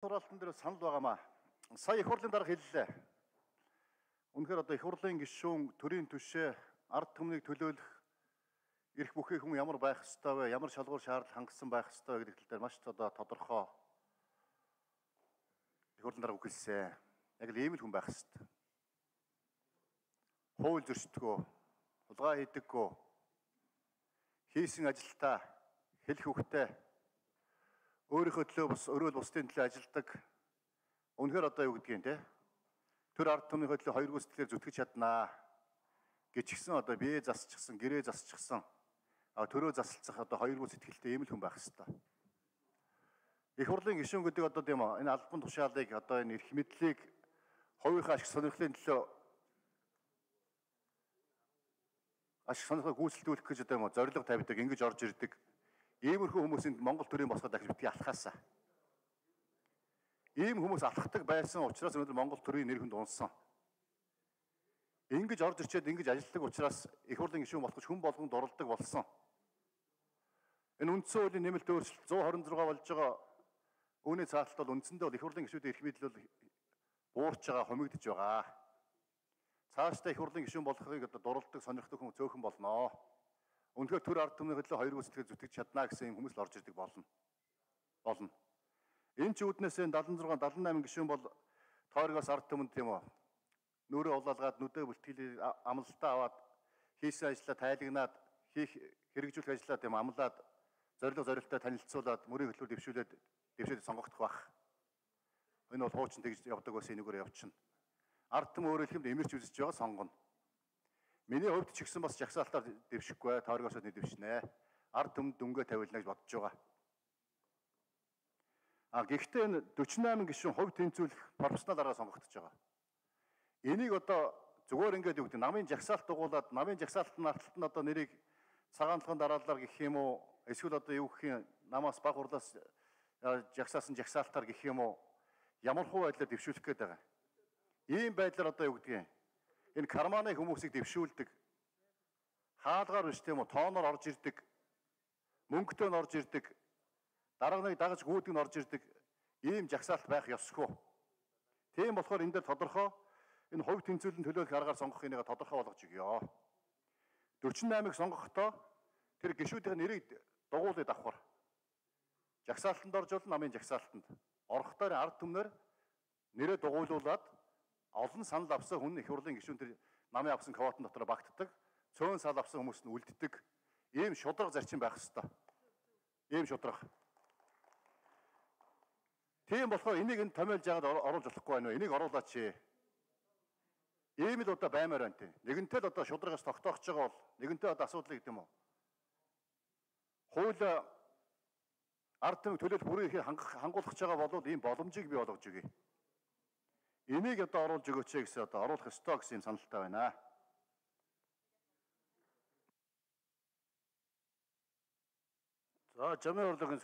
Хураалтан дээр санал байгаамаа. Сая их хурлын дарга хэллээ. Үнэхээр одоо их хурлын гишүүн төрийн түвшээ ард түмнийг төлөөлөх эрх бүхий хүн ямар байх ёстой вэ? Ямар шалгуур шаардлага хангасан байх ёстой вэ гэдэг дээр маш одоо тодорхой их хурлын дарга үгэлсэн. Яг л ийм л хүн байх ёстой. Хууль зөрчдөгөө, хулгай хийдэггүй, хийсэн ажилдаа хэлэх үгтэй өөрийнхөө төлөө бас өрөөл бусдын төлөө ажилдаг. Үнэхээр одоо юу гэдгийг те төр ард түмнийхөө төлөө хоёр гүйцэтгэлээр зүтгэж чаднаа гिचгсэн одоо бие засчихсан, гэрээ засчихсан. Төрөө засалцах одоо хоёр гүйцэтгэлтэй ийм л хүн байх ёстой. Их хурлын гишүүн гэдэг одоо тийм энэ албан тушаалыг одоо энэ эрх мэдлийг хувийнхаа ашиг сонирхлын төлөө ашиг сонирхлыг гүйцэлдүүлэх гэж одоо юм зорилго тавьдаг, ингэж орж ирдэг. Иймэрхүү хүмүүсийн Монгол төрийн босгоод дахиж битгий алхаасаа. Ийм хүмүүс алхахдаг байсан учраас өнөөдөр Монгол төрийн нэр хүнд унсан. Ингэж орж ирчээд ингэж ажилладаг учраас их хурлын гишүүн болох гэж хүн болгонд оролдог болсон. Энэ үндсэн хуулийн нэмэлт өөрчлөлт 126 болж байгаа үүний цааталт бол үндсэндээ бол их хурлын гишүүдийн эрх мэдэл бол буурч байгаа, хумигдж байгаа. Цаашдаа их хурлын гишүүн болохыг одоо дуралдаг, сонирхдаг хүн цөөхөн болноо. Үнэхээр төр ард түмний хөдөлгөөн хоёр гүйцэтгэлээр зүтгэж чаднаа гэсэн юм хүмүүс л орж ирдэг болно. Энэ ч үүднээс 76, 78 гишүүн бол тойрогоос ард түмэнд тийм үү нүрээ улаалгаад нүдэ бүлтгэлийг амлалтаа аваад хийсэн ажлаа тайлагнаад хэрэгжүүлэх ажлаа тийм амлаад зорилттой танилцуулаад мөрийн хөтөлбөр дэвшүүлээд сонгогдох байх. Энэ бол хуучин тэгж явдаг байсан энэгээр явчихна. Ард түмэн өөрөө хэлэхэд имэрч үзэж байгаа сонгоно. Миний хувьд ч ихсэн бас жагсаалтаар дэвшихгүй, тойрогоос нь дэвшнэ. Ард түмэнд дүнгээ тавилна гэж бодож байгаа. Гэхдээ энэ 48 гишүүн хувь тэнцвүүлэх профессионал аргаар сонгогдож байгаа. Энийг одоо зүгээр ингээд юу гэдэг намын жагсаалт дугуулад намын жагсаалтын арталт нь одоо нэрийг цагаанлахын дараалалаар гэх юм уу эсвэл одоо юу гэх юм намаас баг хурлаас жагсаасан жагсаалтаар гэх юм уу ямар хуу байдлаар дэвшүүлэх гээд байгаа. Ийм байдлаар одоо юу гэдгийг энэ карманы хүмүүсийг дэвшүүлдэг. Хаалгаар биш тийм үү тооноор орж ирдэг. Мөнгөтэй нь орж ирдэг. Дарганыг дагаж гүйдэг нь орж ирдэг. Ийм жагсаалт байх ёсгүй. Тийм болохоор энэ дээр тодорхой энэ хувь тэнцвэрлэн төлөөлөх аргаар сонгох энийг тодорхой болгож өгье. 48-ыг сонгохдоо тэр гишүүдийн нэрийг дугуулад авахар. Жагсаалтанд орж бол намын жагсаалтанд. Орохдоо ард түмнэр нэрээ дугуулуулад олон санал авсан хүн их хурлын гишүүн тэр намын авсан квотын дотор багтдаг. Цөөн санал авсан хүмүүс нь үлддэг. Ийм шудраг зарчим байх ёстой. Ийм шудраг. Тийм болохоор энийг энэ томьёолж яагаад оруулж болохгүй байна вэ? Энийг оруулаач. Ийм л одоо баймаар байна тийм. Нэгэнтэй л одоо шудрагаас тогтоохж байгаа бол нэгэнтэй одоо асуудал гэдэг юм уу? Хууль ард түмнийг төлөөлөх бүрийн хангуулах байгаа бол ийм боломжийг бий болгож өгье. Энийг одоо оруулж өгөөч гэсэн одоо оруулах ёстой гэсэн юм саналтай байна. За, жамын урлагийн